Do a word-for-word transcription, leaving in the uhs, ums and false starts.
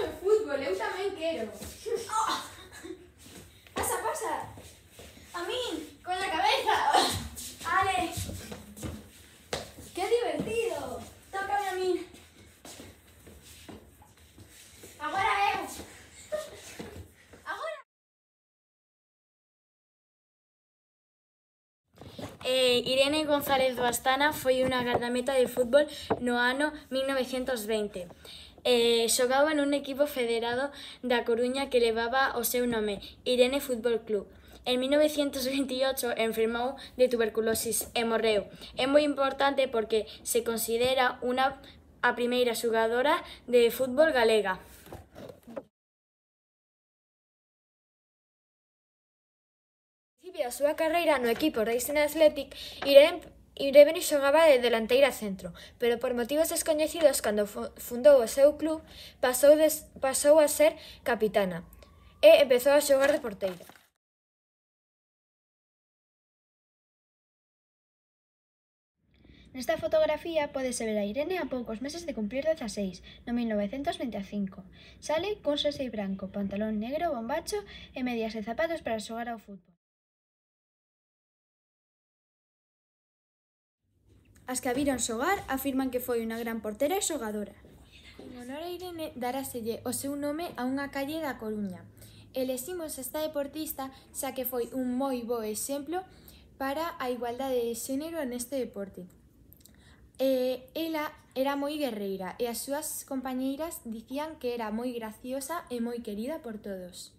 no fútbol, eu tamén quero. Oh. Pasa, pasa. A min. Con la cabeza. Ale. ¡Qué divertido! Tócame a min. Agora eu. Agora. Eh, Irene González do Astana foi unha gardameta de fútbol no ano mil novecientos veinte. Eh, xogaba nun equipo federado da Coruña que levaba o seu nome, Irene Fútbol Club. En mil novecientos veintiocho enfermou de tuberculosis e morreu. É moi importante porque se considera unha a primeira xogadora de fútbol galega. Recibe a súa carreira no equipo Racing Athletic, Irene Irene xogaba de delanteira centro, pero por motivos descoñecidos, cando fundou o seu club, pasou, des, pasou a ser capitana e empezou a xogar de porteira. Nesta fotografía pódese ver a Irene a poucos meses de cumplir dezaseis, no mil novecentos vinte e cinco. Sale cun xersei branco, pantalón negro, bombacho e medias e zapatos para xogar ao fútbol. As que a viron xogar afirman que foi unha gran portera e xogadora. En honor a Irene, daráselle o seu nome a unha calle da Coruña. Eleximos esta deportista xa que foi un moi bo exemplo para a igualdade de xénero neste deporte. Eh, ela era moi guerreira e as súas compañeiras dicían que era moi graciosa e moi querida por todos.